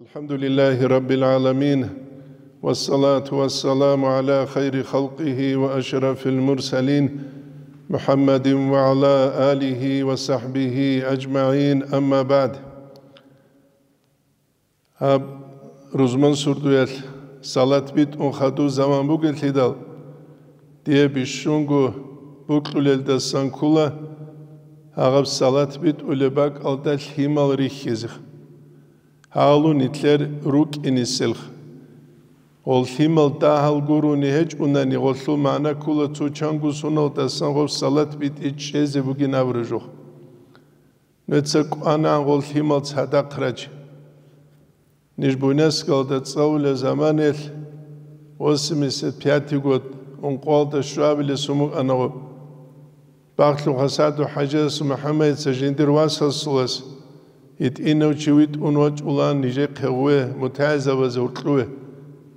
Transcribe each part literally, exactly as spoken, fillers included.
الحمد لله رب العالمين، والصلاة والسلام على خير خلقه وأشرف المرسلين، محمد وعلى آله وصحبه أجمعين، أما بعد. Гьаб рузман сурдуялъ салат битӀун хадув заман бугелъидал, дие бищунго букьулелдасан ккула гьагъаб салат битӀулеб бакӀалда лъимал рихьизе. Гьалун нилъер рукӀиниселха. Гъол лъимал дагьал гурони гьечӀунани, гъолъул магӀна ккула цо чанго суналдасан гъоб салат битӀи чӀезе бугин абураб жо. Нуца кӀванагӀан гъол лъимал цадахъ рачи. Ниж Буйнакскалда цӀалулеб заманаялъ, восемьдесят пятый год, ункъоялда щвабилеб сумукъана гъоб. Бахлъухъа СагӀду-хӀажияс МухӀаммадица жиндир васасулас, гьитӀинав чи витӀун вачӀулаан нижехъе гъуве, мутагӀилзабазе гьоркьове.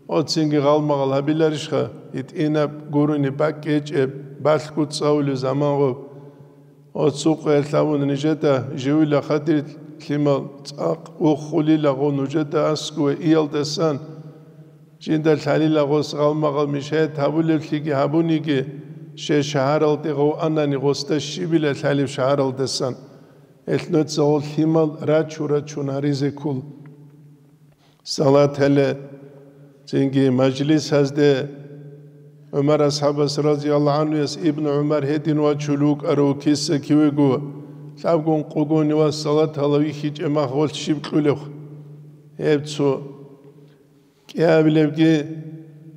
Оцинги гъалмагъал гьабиларищха, гьитӀинаб гурони бакӀ гьечӀеб, балъго цӀалулеб заман гъоб. Оцукъе лъабун нижеда живила хадир лъимал цӀакъ уххулила гъо нужеда аскӀове иялдасан, жинда лъалила гъос гъалмагъал мешайат гьабулеблъиги гьабуниги, ще шагьаралде гъов анани гъосда щибила лъалеб шагьаралдасан. Гьелъ нуца гъол лъимал рачу-рачун гьаризе ккол. Салат гьале, цинги мажлисазде ГӀумар асхӀабас разияллагьу гӀанхуяс Ибну ГӀумар гьедин вачулев вукӀарав киса кивего, лъабгун къугони ва салат гьала вихьичӀеб мах гъолъ щиб кьулев? Гьеб цо. КӀиабилебги,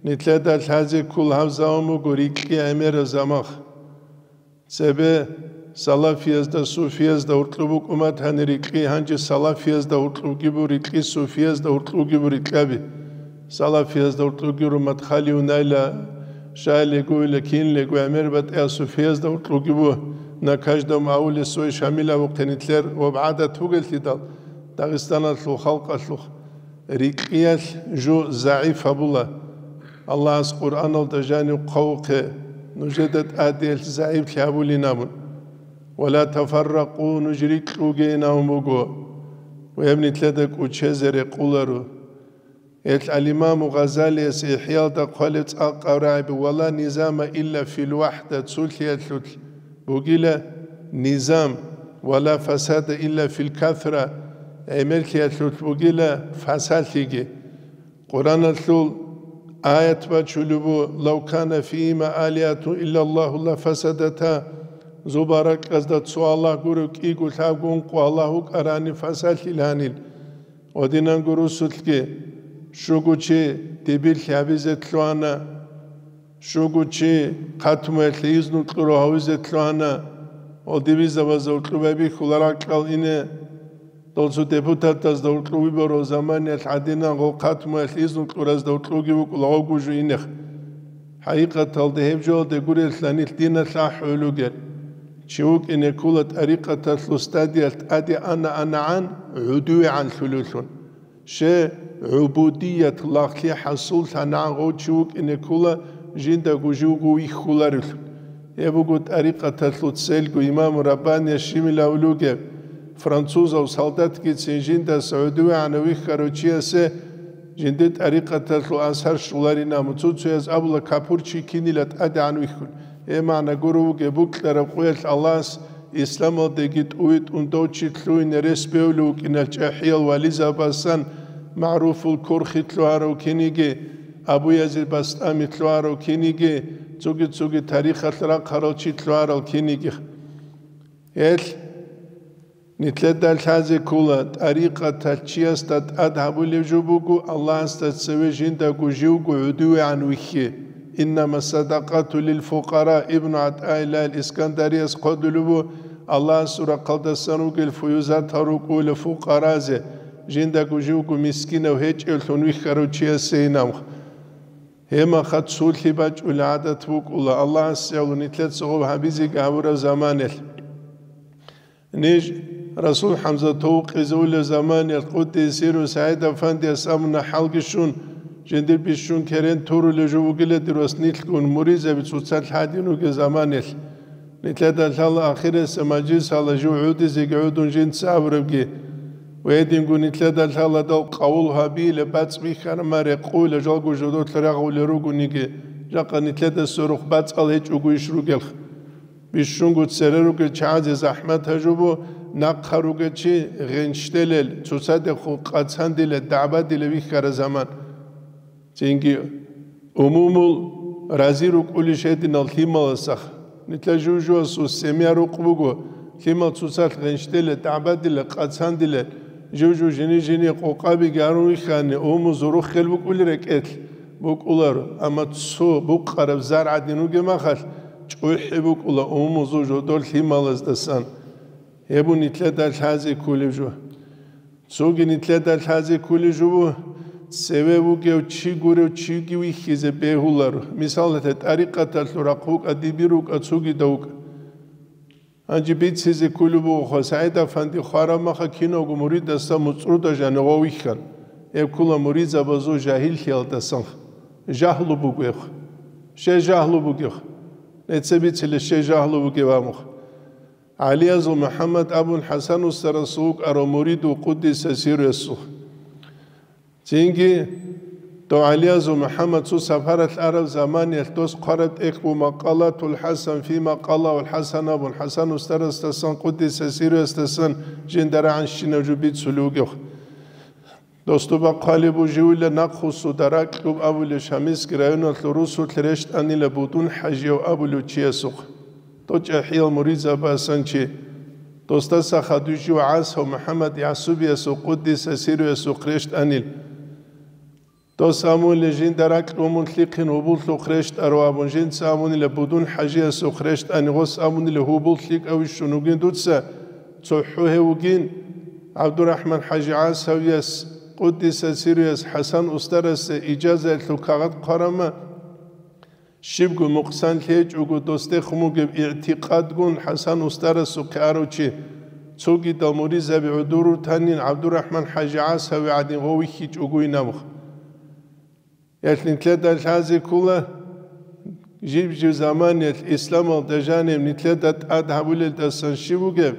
нилъеда лъазе ккол гьаб заман буго рикьи гӀемераб замах. Цебе салафиязда, суфиязда гьоркьоб букӀун батани рикьи, гьанже салафиязда гьоркьобги бу рикьи, суфиязда гьоркьобги бу рикьаби. Салафиязда гьоркьобги ру Мадхалиюнайла, Шалигуйла, кинлего гӀемер батӀияб суфиязда гьоркьобги бу, на каждом ауле свой Шамил абухъе нилъер ва гӀадат бугелъидал, Дагъистаналъул халкъалъухъ. Рикьиялъ жо загӀип гьабула. Аллагьас Къуръаналда жанив хъвавухъе, нужеда тӀадиялъ загӀиплъи гьабулин абун. «Ва ла тафарракъу», нуж рикьугейин абун буго. Ва гьеб нилъеда кӀучезе рекъоларо. Гьелъ ал-Имаму Гъазалияс ИхӀяалда хъвалеб цӀакъ гьабураб: «Ва ла низама илла фил вахӀда», цолъиялъулъ бугила низам, «ва ла фасада илла фил касра», гӀемерлъиялъулъ бугила фасалъиги. Къуръаналъул аят бачулеб бу: «Лав кана фигьима алигьатун иллаллагьу ла фасадата», зобал ракьазда цо Аллагь гурев кӀиго лъабго ункъо Аллагь вукӀарани фасалъиланил. Гьединанго русулъги, щуго чи дибирлъи гьабизе лъугьана, щуго чи хъатмуялъе изну кьурав гьавизе лъугьана, гьол дибизабазда гьоркьоб байбихьула ракьал ине, дол цо депутатазда гьоркьоб выборал заманиялъ гӀадинан гъол хъатмуялъ изну кьуразда гьоркьобги букӀула гъогужу инех. ХӀакъикъаталда гьеб жоялде гурелъанилъ диналъ ахӀулугел. Чи вукӀине ккола тӀарикъаталъул стадиялъ тӀаде ана-анагӀан гӀудувегӀан лъулевлъун. Ще гӀубудият лагълъи хӀасуллъанагӀан гъов чи вукӀине ккола жиндаго живго вихьуларевлъун. Гьеб буго тӀарикъаталъул цельго. Имаму Раббанияс щибил авлуге, французав солдатгицин жиндаса гӀудувегӀанав вихьарав чиясе жиндир тӀарикъаталъул асар щоларин абун, цо-цояз абула, капурчи кинила тӀадегӀан вихьун. Гьеб магӀна гуро вугеб, букьараб къоялъ Аллагьас исламалдеги тӀувитӀун дов чи лъугьине рес бевлев вукӀиналъ чӀахӀиял вализабасан, МагӀруфул Курхи лъугьарав киниги, Абу Язид Бастами лъугьарав киниги, цоги-цоги тарихалъ рахъарал чи лъугьарал киниги. Гьелъ нилъеда лъазе ккола, тӀарикъаталъ чиясда тӀад гьабулеб жо буго Аллагьасда цеве жиндаго живго гӀудувегӀан вихьи. «Иннама садакъату лил фукъара», Ибну ГӀатаиллагь ал-Искандарияс хъвалеб буго, Аллагьасул рахъалдасан ругел фуюзатал рукӀуна фукъаразе, жиндаго живго мискинав гьечӀевлъун вихьарав чиясейин абун. Гьеб мехалъ цолъи бачӀулеб гӀадат букӀуна, Аллагьасе гӀоло нилъеца гъоб гьабизеги гьабураб заманалъ. Ниж Расул ХӀамзатов вукъизе унеб заманалъ, къуддиса сирругьу, СагӀид-афандияс абуна, хӀалги щун, жиндир бищун керен турулеб жо бугила дир вас нилъгун муридзаби цоцалъ гьадин ругел заманалъ. Нилъеда лъала ахирисеб мажлисалда жив гӀодизеги гӀодун жинца абурабги. Гьединго нилъеда лъаладал къавул гьабиилеб бацӀ бихьараб ма рекъуйла жалго жодолъ рагъулел ругониги, жакъа нилъеда сверухъ бацӀал гьечӀого иш ругелха. Бищунго цере ругел чагӀазе захӀмат гьажубу, нахъа ругел чи гъенщтелел, цоцадехун къацандилел, дагӀбадилел вихьара заман. Цинги умумул рази рукӀулищ гьединал лъималасах. Нилъа жужуасул семья рукъ буго, лъимал цоцалъ гъенщтелел, дагӀбадилел, къацандилел, жужу жини-жини къокъабиги гьарун вихьани, умумузул руххел букӀулел рекӀелъ букӀуларо, амма цо букъараб зар гӀадин ругеб махалъ, чӀухӀи букӀула умумузул жодор лъималаздасан. Гьеб нилъеда лъазе кколеб жо. Цоги нилъеда лъазе кколеб жо, цеве вугев чи гурев чиги вихьизе бегьуларо. Мисалалъе, тӀарикъаталъул рахъ вукӀа, дибир вукӀа, цогидав вукӀа. Гьанже бицизе кколеб бугоха, СагӀид-афанди хвараб маха кинавго муридасда муцӀруда жанив вихьана. Гьеб ккола муридзабазул жагьиллъиялдасан. Жагьлу бугебха. Щай жагьлу бугебха? Нецебицила щай жагьлу бугеб абуха. ГӀалиязул МухӀаммад абун ХӀасан устарасул вукӀарав муридул къуддиса сирруясул. Цинги дов ГӀалиязул МухӀаммад цо сапаралъ араб заманиялъ дос хъвараб тӀехь бу Макъалатул ХӀасан фи макъалагьул ХӀасан абун ХӀасан устарасдасан къуддиса сирруясдасан жинда рагӀанщинаб жо бицулев вугев. Дос доба хъвалеб бу живила нахъвуссуда ракьуб абулев Шамилский районалъул русулъ рещтӀанила Будун ХӀажияв абулев чиясухъ. Дов чӀахӀиял муридзабасан чи. Досдаса хадув жив ГӀасав МухӀаммад Ясубиясухъ къуддиса сирруясухъ рещтӀанил. Дос амулел жинда ракьун мун лъихъин гьубуллъухъ рещтӀаро абун, жинца амунила Будун ХӀажиясухъ рещтӀани, гъос амунила гьубул лъикӀав вищун вугин дуца, цохӀо гьев вугин, ГӀабдурахӀман ХӀажи ГӀасавияс, къуддиса сирруяс ХӀасан устарасе ижазаялъул кагъат хъварама, щибго мукъсан лъечӀого досде хъумугеб игӀтикъадгун ХӀасан устарасухъе арав чи, цогидал муридзаби гӀодорутанин ГӀабдурахӀман ХӀажи ГӀасави гӀадин гъов вихьичӀогойин абуха. Гьелъ нилъеда лъазе ккола, жиб-жиб заманиялъ исламалда жаниб нилъеда тӀад гьабулелдасан щиб бугеб?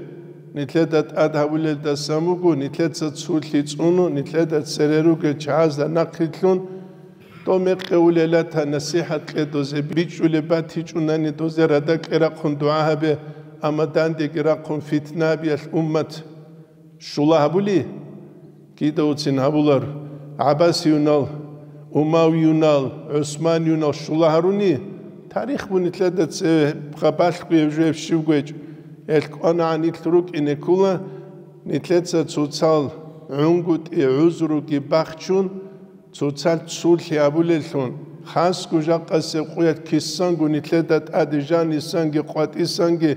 Нилъеда тӀад гьабулелдасан буго, нилъеца цулъи цӀуну, нилъеда цере ругел чагӀазда нахърилълъун, дов мекъи улелата насихӀат кье дозе, бичӀчӀулеб батичӀунани дозе радакье рахъун дугӀа гьабе, амма дандеги рахъун фитнабиялъ уммат щула гьабули, кидавцин гьабулар, гӀаббасиюнал, умавиюнал, гӀусманиюнал щула гьаруни, тарих бу нилъеда цебе балъго гьеб жо гьеб щибго гьечӀо. Гьелъ кӀванагӀан нилъ рукӀине ккола, нилъеца цоцал гӀунгутӀи гӀузруги бахчун, цоцал цулъи абулеллъун, хасго жакъасеб къуялъ кисанго нилъеда тӀаде жанисанги къватӀисанги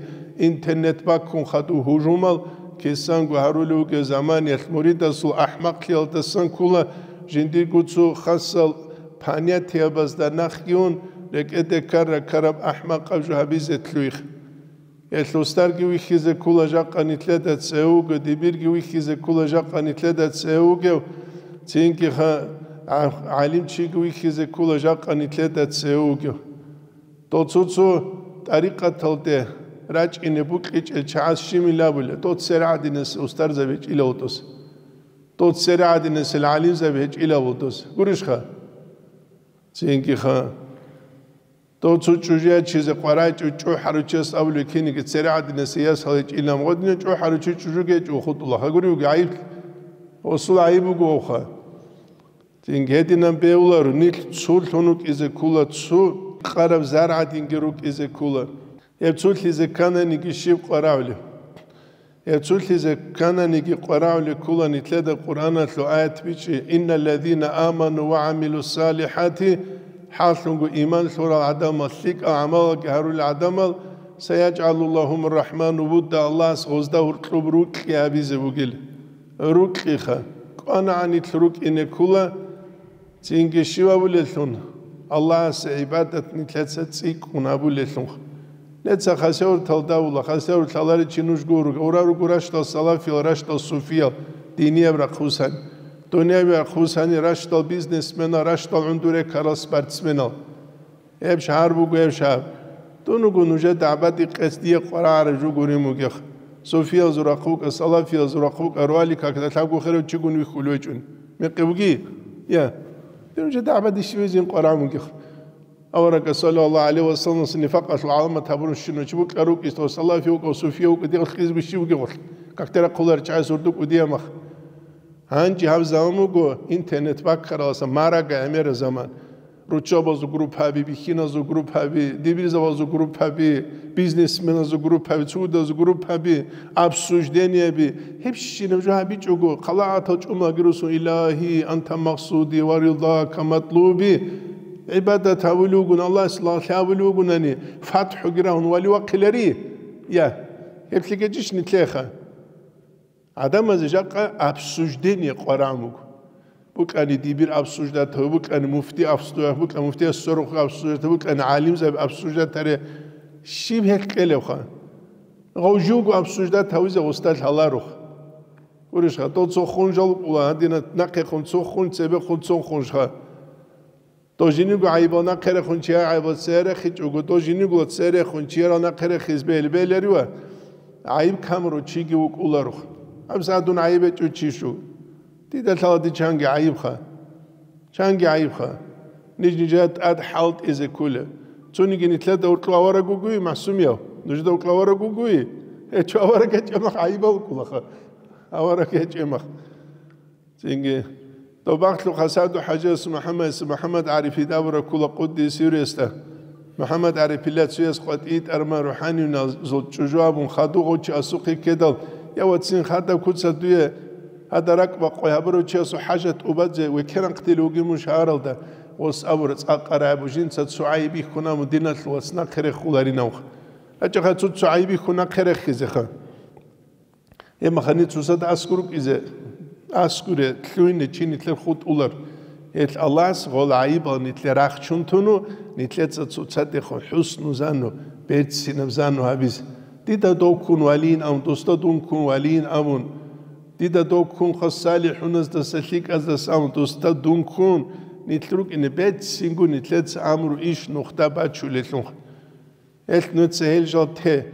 интернет баккун хадув гьужумал кисанго гьарулев вугев заманиялъ муридасул ахӀмакълъиялдасан ккола, жиндирго цо хасал понятиябазда нахъги ун, рекӀеде ккара-ккараб ахӀмакъаб жо гьабизе лъугьихъ. Гьелъ устарги вихьизе ккола жакъа нилъеда цеве вуго, дибирги вихьизе ккола жакъа нилъеда цеве вугев, цинги ха-, гӀа-, гӀалимчиги вихьизе ккола жакъа нилъеда цеве вугев. Дол цо-цо тӀарикъаталде рачӀине букьичӀел чагӀаз щиб милабула, дол цере гӀадинасел устарзаби гьечӀилавул дос. Дол цере гӀадинасел гӀалимзаби гьечӀилавул дос. Гурищха? Цинги ха. Дов цо чӀужу ячизе къварай чӀу-, чӀухӀаручияс абулеб киниги цере гӀадинасей ясал гьечӀилан гъодинав чӀухӀаручи чӀужуги гьечӀо хутӀула. Гьагури вуги гӀайиб. Гъосул гӀайиб буго гъовха. Цинги гьединан бегьуларо, нилъ цулъун рукӀизе ккола, цу къараб зар гӀадинги рукӀизе ккола. Гьеб цулъизе ккананиги щиб къварагӀулев? Гьеб цулъизе ккананиги къварагӀулеб ккола нилъеда Къуръаналъул аят бичӀчӀи: «Инналлазина аману ва гӀамилу салихати», хӀаллъунго иман лъурал гӀадамал, лъикӀал гӀамалалги гьарулел гӀадамал, «сайажгӀалу лагьумур рахӀману вудда», Аллагьас гъозда гьуркьуб рукьи гьабизе бугил. Рукьиха, кӀванагӀан нилъ рукӀине ккола, цинги щив абулеллъун, Аллагьасе гӀибадат нилъеца цӀикӀкӀун абулеллъунха. Неца хасавуртал давула, хасавур лъаларичи нуж гуруг, ура руго ращтал салафиял, ращтал суфиял, динияб рахъусани, дунияби рахъусани, ращтал бизнесменал, ращтал гӀундуре ккарал спортсменал. Гьеб шагьар буго, гьеб шагьар. Дун вуго нужеда гӀабадикъес дие къварагӀараб жо гурин бугех. Суфиязул рахъ букӀа, салафиязул рахъ букӀа, руали какда лъабго херав чигун вихьулев гьечӀун. Мекъи буги? Я. Дин жо дагӀба дищивезин къварагӀун бугех. Аварагас, саллаллагьу гӀалайгьи ва саллам, нифакъалъул гӀаламат гьабурун щинав чи букӀа рукӀис, дов салафи вукӀа, суфия вукӀа, дигъ хъизби щив вугев гъолъ. Какда рахъулар чӀайс урдук удиямах. Гьанже гьаб заман буго интернет баккараласа марага гӀемера заман. Руччабазул группаби, бихьиназул группаби, дибирзабазул группаби, бизнесменазул группаби, цугудазул группаби, обсуждениеби, гьебщинаб жо гьабичӀого, хъалаатал чӀумаги русун, «Илагьи, анта максуди ва рилдака матлуби», гӀибадат гьавулев вугун, Аллагьас лагълъи гьавулев вугунани, фатхӀуги рагьун вали вахъилари? Я, гьеб лъикӀечӀищ нилъеха? ГӀадамазе жакъа обсуждение къварагӀун буго. БукӀани дибир обсуждат гьаб, букӀани муфти обсуждат, букӀани муфтияс сорухъ обсуждат гьаб, букӀани гӀалимзаби обсуждат гьаре. Щиб гьелъ кьелебха? Гъов живго обсуждат гьавизе гъустал гьаларух. Гурищха, дол цо хунжал вукӀула, гьадина нахъехун цо хунж, цебехун цо хунжха. Дов жиниго гӀайибал нахъерехун чияр гӀайибал церехичӀого, дов жинигула церехун чияр нахъерехиз бел-, беларива? ГӀайиб камурав чиги вукӀуларо. ГьабсагӀат дун гӀайиб гьечӀев чи щуго. Дида лъала дид чанги гӀайибха. Чанги гӀайибха. Ниж-нижер тӀад хӀалтӀизе ккола. Цониги нилъеда уркьулъ авараг вугои, МахӀсумияв? Нужеда уркьулъ авараг вугои? Гьечо, авараг гьечӀеб мах гӀайибал вукӀулаха. Авараг гьечӀеб мах. Цинги, доб бахлъухъ Асаду-хӀажияс МухӀаммадица МухӀаммад ГӀарифида абураб ккола къуддиса сирругьу. МухӀаммад ГӀарифила цояс къватӀий тӀарма рухӀаниязул чӀужу абун хадув гъов чи асухъе ккедал, я, вацин, хадаб куца дуе гьада ракӀбакъвай гьабурав чиясул хӀажат тӀубазе векеран хъдилев вугин мун шагьаралда, гъос абура, цӀакъ арагӀеб жинца цо гӀайиб бихьун абун диналъул вац нахъе рехуларинавха. ГьечӀоха цо, цо гӀайиб бихьун нахъе рехизеха. Гьеб махани цоцазда аскӀор рукӀизе, аскӀоре, лъугьине чи нилъер хутӀулар. Гьелъ Аллагьас гъол гӀайибал нилъер рахчун туну, нилъеца цоцадехун хӀусну зану, берцинаб зану гьабизе. Дида дов ккун валийин абун, досда дун ккун валийин абун. Дида дов ккунха салихӀуназдаса, лъикӀаздаса абун, досда дун ккун, нилъ рукӀине берцинго нилъеца амру иш нухда бачулелъунха. Гьелъ нуца гьел жал те.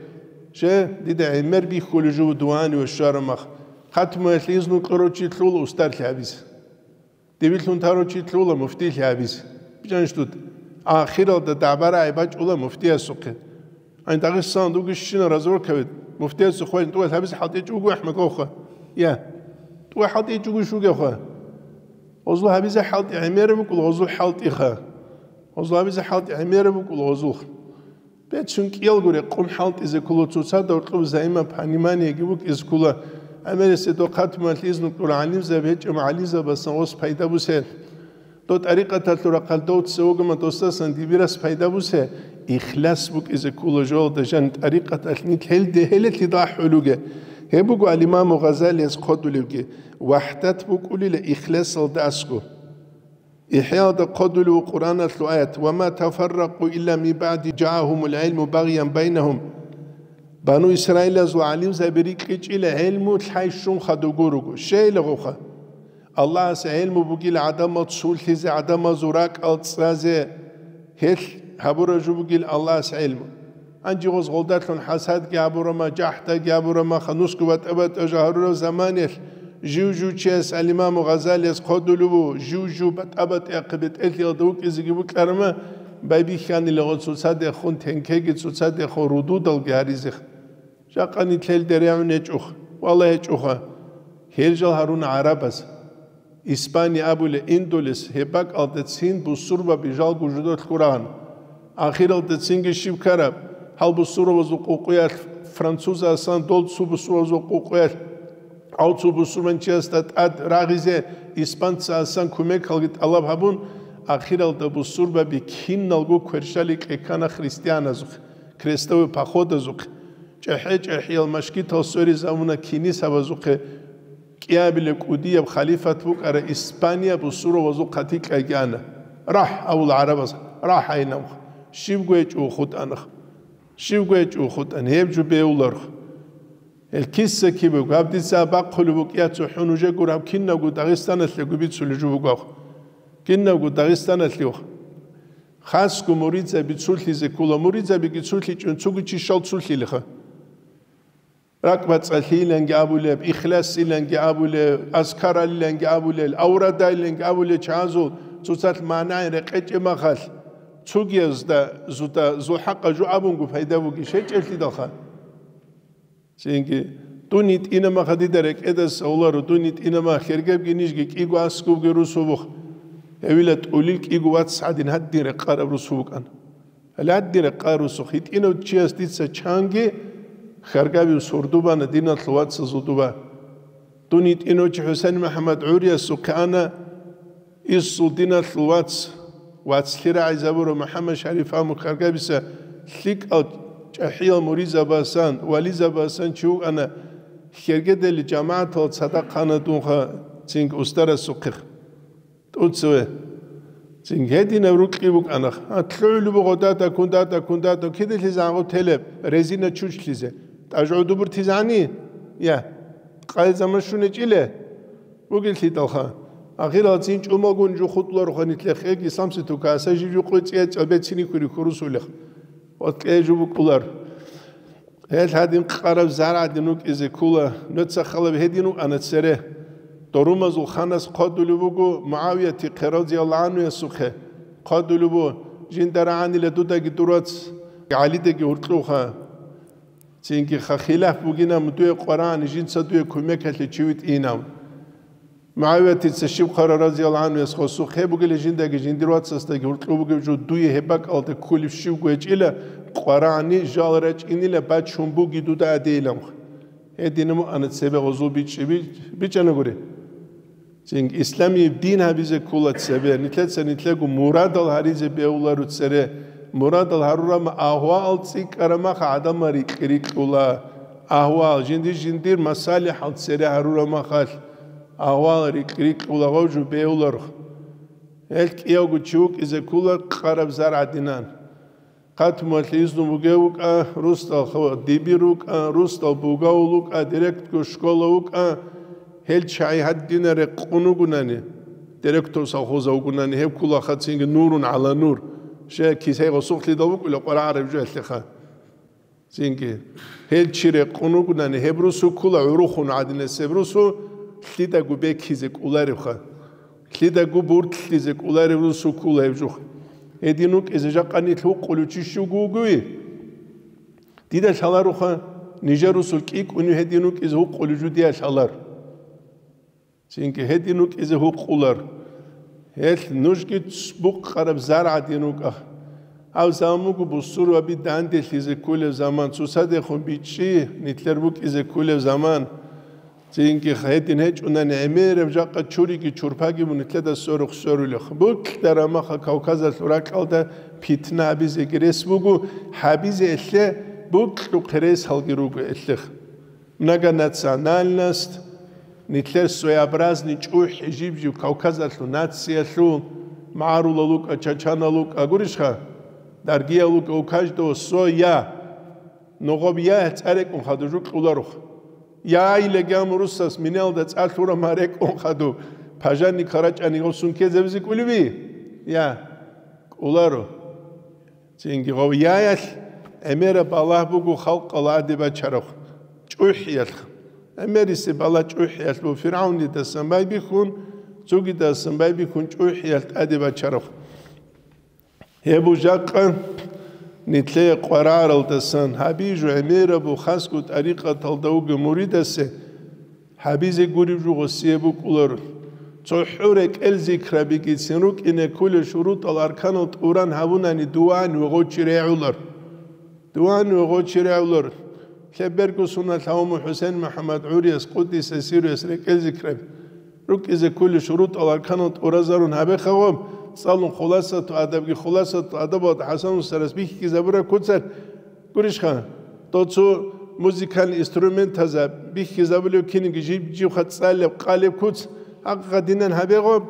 Же, дида гӀемер бихьулев жо дугьани ва щвараб мах. Хатмуялъе изну кьурав чи лъула устарлъи гьабизе. Дибирлъун тарав чи лъула муфтилъи гьабизе. БичӀанищ дуда? Ахиралда дагӀба-рагӀи бачӀула муфтиясухъе. Гьанин Дагъистаналда вугищина разворкаве, муфтиясухъ вай тӀугӀал гьабизе хӀалтӀичӀого АхӀмад вавха. Я. ТӀугӀал хӀалтӀичӀого вугевха. Гъозул гьабизе хӀалтӀи гӀемераб букӀула гъозул хӀалтӀиха. Гъозул гьабизе хӀалтӀи гӀемераб букӀула гъозулха. Бецун кӀиялго рекъон хӀалтӀизе ккола цоцазда гьоркьоб взаимопониманиеги букӀизе ккола. ГӀемерисеб дов хатмуялъе изну кьура гӀалимзаби гьечӀеб гӀалимзабасан гъос пайда бусе. Дов тӀарикъаталъул рахъалъ дов цевогама досдасан дибирас пайда бусе. Ихлас букӀизе ккола жоялда жан тӀарикъаталъ нилъ гьелде гьелелъидал ахӀулуге. Гьеб буго ал-Имаму Гъазалияс хъодулевги: вахӀдат букӀулила ихласалда аскӀо. ИхӀяалда хъодулев Къуръаналъул аят: «Ва ма тафарракъу илла мин баъди жаагьумул гӀилму багъян байнагьум». Бану Исраилазул гӀалимзаби рикьичӀила гӀилму лъай щун хадуб гуруго. Щайила гъовха? Аллагьас гӀилму бугила гӀадамал цулъизе, гӀадамазул ракӀал цӀазе, гьелъ гьабураб жо бугила Аллагьас гӀилму. Гьанже гъоз гъолдалъун хӀасадги гьабурама, жахӀдаги гьабурама, ханусго батӀа-батӀа жо гьарураб заманаялъ, жив-жив чияс ал-Имаму Гъазалияс хъодулев ву, жив-жив батӀа-батӀиахъе бетӀерлъиялда вукӀизеги букӀарама, байбихьанила гъо цоцадехун тенкеги, цоцадехун рудудалги гьаризе. Жакъа нилъелде регӀун гьечӀоха, валлагь гьечӀоха. Гьел жал гьаруна гӀарабаз. Испания абулеб индулес гьеб бакӀалдецин бусурбаби жалго жидолъ гурагьана. Ахиралдецинги щиб ккараб? Гьал бусурбабазул къукъуялъ, французасан дол цо бусурбабазул къукъуялъ, гьав цо бусурбанчиясда тӀад рагъизе испанцасан кумекалги тӀалаб гьабун, ахиралда бусурбаби киналго кверщали кьеккана христианазухъе, крестовый походазухъе, чӀехӀе-чӀехӀиял машгитал сверизавуна кинисабазухъе. КӀиабилеб кӀудияб халифат букӀараб Испания бусурбабазул хъатикьайги ана. «РахӀ», – абула гӀарабаз, «рахӀ», – гьайнавха. Щибго гьечӀо хутӀанах. Щибго гьечӀо хутӀан, гьеб жо бевуларх. Гьел киса-кибего, гьаб дица бахъулеб букӀиялъул хӀун уже гур гьаб кинабго Дагъистаналъего бицулеб жо бугоха. Кинабго Дагъистаналъеха. Хасго муридзаби цулъизе ккола, муридзабиги цулъичӀун цого чи щал цулъилиха. РакӀбацӀалъийиланги абулеб, ихласиланги абулеб, азкаралиланги абулел, аврадайиланги абулел чагӀазул цоцалъ магӀнагӀи рекъечӀеб махалъ, цогиязда зуда зул хӀакъа жо абунго пайда бугищ гьечӀеблъидалха. Цинги, дун йитӀина маха дида рекӀедас авларо, дун йитӀина мах, хергебги нижги кӀиго аскӀубги русу бух. Гьевила тӀулил кӀиго вац гӀадин гьадин рекъараб русу букӀана. Гьале гьадин рекъараб русухъ, йитӀинав чияс дица чанги хьаргабив сордубана диналъул вацазул дуба. Дун йитӀинав чи ХӀусен МухӀаммад гӀуриясухъе ана, Инсул диналъул вац, вацлъи рагӀизабурав МухӀаммад Шариф Амухаргабиса лъикӀал чӀахӀиял муридзабасан, вализабасан чи вукӀана, хергедали жамагӀатал цадахъ ана дунха цинги устарасухъе. ТӀуцеве. Цинги гьединаб рукьи букӀана. А, лъугӀулеб буго дада, кун дада, кун дада, киделъи загӀгу телеб, резина чучлъизе. ТӀаж гӀодобуртизани? Я. Къай заман щунечӀиле? Бугелъидалха, ахирал цин чӀумалгун жо хутӀулароха нилъехъеги самситу каса жив жукъуй цӀия цӀабецини хьури хурусулех. Ва кье жо букӀулар. Гьел гьадин къараб заргӀадин вукӀизе ккула, нуца халаб гьедин вукӀана цере. Дорумазул ханас хъвадулеб буго МугӀавияти хъе разияллагьу гӀанхуясухъе. Хъвадулеб буго, жинда рагӀанила дудаги дурац, ГӀалидаги гьуркьуха. Цинги ха хилаф бугинаб дуе къварагӀани жинца дуе кумекалъе чи витӀинав. МугӀавиятица щиб хъвара разияллагьу гӀанхуяс гъосухъе бугеле жиндаги жиндир вацасдаги гьуркьу бугеб жо дуе гьеб бакӀалда кколеб щибго гьечӀила, къварагӀани жал рачӀинила бачун буги дуда адейилан. Гьединаб мугӀана цебе гъозул бичӀчӀи би-, бичӀанагури. Цинги исламияб дин гьабизе ккула цебе, нилъеца нилъего мурадал гьаризе бегьуларо цере, мурадал гьарурама агьваал цӀикӀкӀарамаха гӀадамал рикь-, рикьула, агьваал жиндир-жиндир масалихӀал цере гьарурамахалъ, агьваал рикь-, рикьула гъов жо бегьуларх. Гьел кӀиявго чи вукӀизе ккула къараб заргӀадинан. Хъатмуялъе изну бугев вукӀа, русдал хо-, дибир вукӀа, русдал бугавул вукӀа, директор школа вукӀа, гьел чагӀи гьадинал рекъун вугунани, директор совхоза вугунани, гьеб ккулаха цинги нурун гӀала нур, щай кисай гъосухълъидал вукӀула къварагӀараб жо гьелъеха. Цинги гьел чи рекъун вугунани, гьеб русу ккула гӀурухъун гӀадинас, гьеб русу лъидаго бекизе кӀоларебха. Лъидаго буртлъизе кӀоларев русу ккула гьеб жух. Гьедин вукӀизе жакъа нилъ гьукъулев чи щуго вугои? Дида лъаларуха, нижер русул кӀикӀунив гьедин вукӀизе гьукъулев жо дия лъалар. Цинги гьедин вукӀизе гьукъулар. Гьелъ нужги цбукъ къараб заргӀадин вукӀа. Гьав заман буго бусурбаби данделъизе кколев заман, цоцадехун бичӀчӀи, нилъер букӀизе кколев заман. Цинги гьедин гьечӀунани гӀемераб жакъа чуриги чурпаги бу нилъеда сверухъ сверулех. Букьараб маха Кавказалъул ракьалда питна гьабизеги рес буго, гьабизе элъе букьухъе ресалги руго элъех. Многонациональность, нилъер своеобразный чӀухӀи жиб-жиб Кавказалъул нациялъул, магӀарулал вукӀа, чачанал вукӀа, гурищха? Даргиял вукӀа, у каждого своя. Ногъоб я цӀа рекӀун хадур жукьуларух. Я, илагьам русас миналда цӀа лъура ма рекӀун хаду, пажанник харачӀани гъосун ккезабизе кӀулеби? Я, кӀуларо. Цинги гъов яялъ гӀемераб балагь буго халкъала гӀаде бачарахъ, чӀухӀиялъ. ГӀемерисе бала чӀухӀиялъ буго ФиргӀавнидасан байбихьун, цогидасан байбихьун чӀухӀиялъ тӀаде бачарахъ. Гьеб жакъа нилъее къвараралдасан гьабижу гӀемерабу хасго тӀарикъаталда вугев муридасе гьабизе гуреб жо гъосие букӀуларо. ЦохӀо рекӀел зикрабигицин рукӀине кколел шурутӀал арканал тӀуран гьабунани дуван ва гъочи регӀулар. Дуван ва гъочи регӀулар. Лъеберго сунат лъавуму ХӀусен МухӀаммад гӀурияс къуддиса сируяс рекӀел зикраби. РукӀизе кколел шурутӀал арканал тӀуразарун гьабехъа гъоб, цӀалун хуласату адабги хуласату адабалда ХӀасан устарас бихьизабураб куцар, гурищха, доцу музыкальный инструментаза бихьизабулев киниги жиб-жибха цӀалеб къалеб куц, гьакъа динан гьабе гъоб.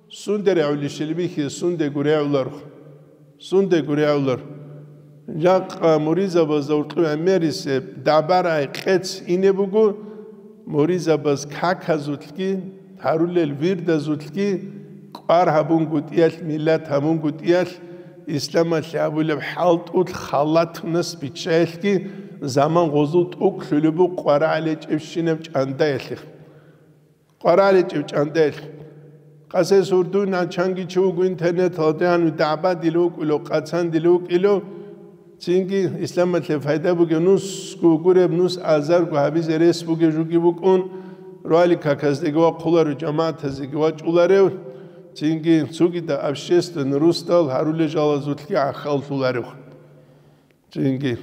Сунде регӀулищил бихьи, сундего регӀуларх. Сундего регӀулар. Жакъа муризабазда уркьу гӀемерисеб дабарай къец ине буго, муризабаз каказулъги, гьарулел вирдазулъги, кӀвар гьабунгутӀиялъ, миллат гьабунгутӀиялъ, исламалъе гьабулеб хӀалтӀулъ халатунас биччаялъги, Заман гъозул тӀокӀлъулеб буго къварагӀаличӀебщинаб чӀандаялъе. КъварагӀаличӀеб чӀандаялъе. Къасес урдуйнан чанги чи вуго интернеталда, гьанив дагӀбадил вукӀило, къацандил вукӀило, цинги исламалъе пайда бугев нусго гуреб, нус азарго гьабизе рес бугев жуги букӀун, раликаказдеги вахъуларев, жамагӀатазеги вачӀуларев, цинги цогидал общественный русдал гьарулел жалазулъги гӀахьаллъуларев. Цинги,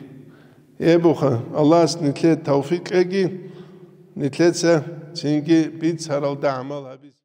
гьебуха, Аллагьас нилъее тавфикъ кьеги, нилъеца цинги бицаралда гӀамал гьабизе.